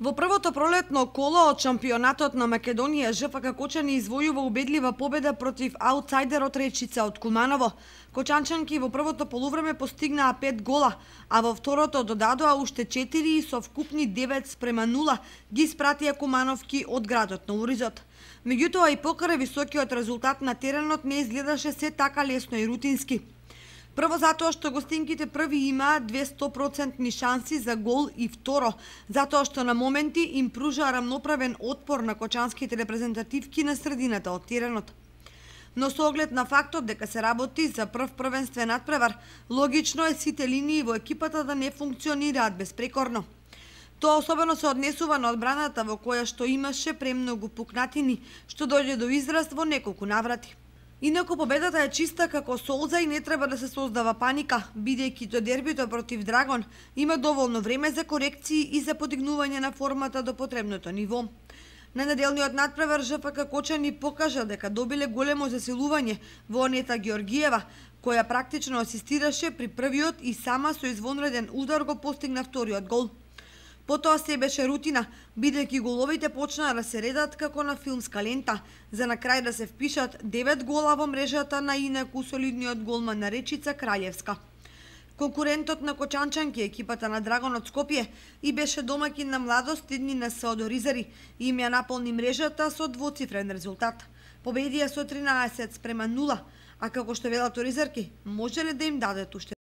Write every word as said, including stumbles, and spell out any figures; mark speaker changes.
Speaker 1: Во првото пролетно коло од шампионатот на Македонија, ЖФК Кочани извојува убедлива победа против аутсайдерот Речица од Куманово. Кочанчанки во првото полувреме постигнаа пет гола, а во второто додадоа уште четири и со вкупни девет спрема нула ги испратија кумановки од градот на Оризот. Меѓутоа и покрај високиот резултат на теренот не изгледаше се така лесно и рутински. Прво затоа што гостинките први имаат две сто процентни шанси за гол и второ, затоа што на моменти им пружаа рамноправен отпор на кочанските репрезентативки на средината од теренот. Но со оглед на фактот дека се работи за прв првенствен надпревар, логично е сите линии во екипата да не функционираат безпрекорно. Тоа особено се однесува на одбраната во која што имаше премногу пукнатини, што дојде до израз во неколку наврати. Инаку победата е чиста како солза и не треба да се создава паника, бидејќи до дербито против Драгон има доволно време за корекции и за подигнување на формата до потребното ниво. На неделниот надпревар ЖФК Кочани покажа дека добиле големо засилување во Анета Георгиева, која практично асистираше при првиот и сама со извонреден удар го постигна вториот гол. Потоа се беше рутина, бидејќи головите почнаа да се редат како на филмска лента, за на крај да се впишат девет гола во мрежата на инаку солидниот голман на Речица Краљевска. Конкурентот на кочанчанки, екипата на Драгон од Скопје, и беше домаќин на младост идни на Саодоризари и им ја наполни мрежата со двоцифрен резултат. Победија со тринаесет спрема нула, а како што велат оризарки, може ли да им дадат уште